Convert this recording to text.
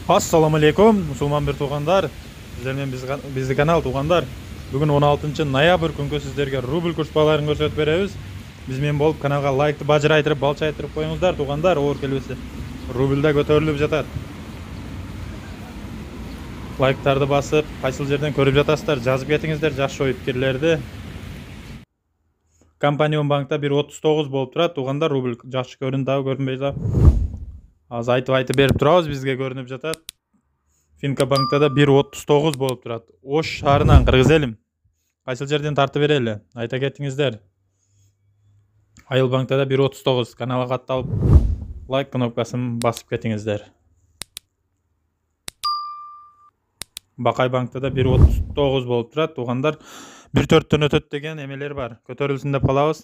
Assalamu alaikum musulmon bir tуугандар. Сиздер менен биздин канал туугандар. Бүгүн 16-ноябрь күнгө сиздерге рубль курс-бааларын көрсөтүп беребиз. Биз менен болуп каналга лайкты бажырайтырып, балчайтырып коюңуздар туугандар. Оор келбесе рубль да көтөрүлүп жатат. Лайктарды басып, кайсыл жерден көрүп жатасыздар, жазып кетиңиздер жакшы ой пикирлерди. Компания банкта 1.39 болуп турат туугандар, рубль жакшы көрүнүп көрүнбөй да. Азыр айтып берип турабыз, бизге көрүнүп жатат. Финка банкта да 1.39 болуп турат. Ош шаарынан Кыргыз элим. Кайсыл жерден тартып берели? Айта кетиңиздер. Айыл банкта да 1.39. Каналга катталып, лайк кнопкасын басып кетиңиздер. Бакай банкта да 1.39 болуп турат туугандар. 1.4төн өтөт деген эмелер бар. Көтөрүлсүн деп калабыз.